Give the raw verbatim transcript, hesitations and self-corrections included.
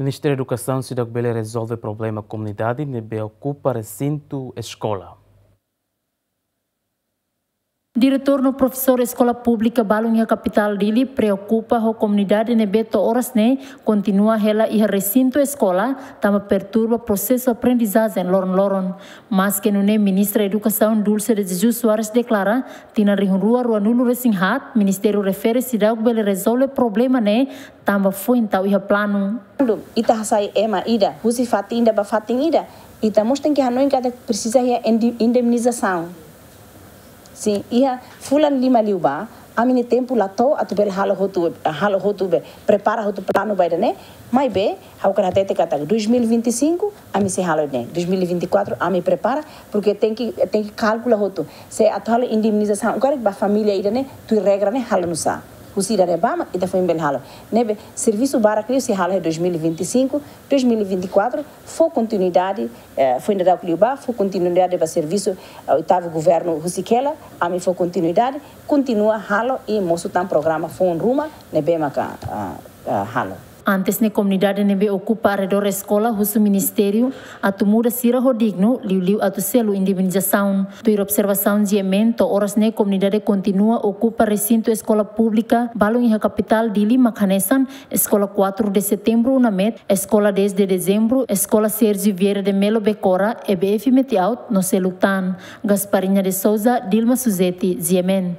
Ministériu Edukasaun seidauk bele rezolve problema komunidade ne'ebé okupa resintu eskola. Diretór no profesór eskola públika balun iha kapitál Dili preokupa ho komunidade ne'ebé to'o oras ne'e kontinua hela iha resintu eskola, tanba perturba prosesu aprendizajen loron-loron. Maske nune'e, Ministra Edukasaun Dulce de Jesus Soares deklara, tinan rihun rua ruanulu resin haat, ministériu refere seidauk bele rezolve problema ne'e tanba foin tau iha planu. Kuandu ita hasai ema ida husi fatin ida ba fatin ida, ita mós tenke hanoin katak presiza iha indi-, indemnizasaun. Sin, iha fulan lima liubá, ami-nia tempu la to'o atu bele halo hotu, halo hotu be, prepara hotu planu ba ida-ne'e, maibé ha'u hakarak hatete katak dois mil e vinte e cinco ami sei halo ne'e, dois mil e vinte e quatro ami prepara, porque tenke, tenke kalkula hotu. Se atu halo indemnizasaun agora ba família ida-ne'e, tuir regra ne'e halo nusá? Husi ida-ne'ebá mak ita foin bele halo. Ne'ebé servisu barak liu sei halo iha dois mil e vinte e cinco, dois mil e vinte e quatro, fó kontinuidade, eh, foin daudauk liubá, fó kontinuidade ba servisu, eh, oitavu governu husik hela, ami fó kontinuidade, kontinua halo i mosu tan programa foun ruma ne'ebé maka, ah, ah, halo. Antes ne'e komunidade ne'ebé okupa arredór eskola husu ministériu atu muda sira ho dignu, liuliu atu selu indemnizasaun. Tuir observasaun G M N, to'o oras ne'e komunidade kontinua okupa resintu eskola públika balun iha kapitál Dili mak hanesan Eskola quatro de Setembro Unamed, Eskola dez de Dezembro, Eskola Sérgio Vieira de Melo Becora, E B F Metiaut, no seluk tan. Gasparinha de Souza, Dilma Suzeti, G M N.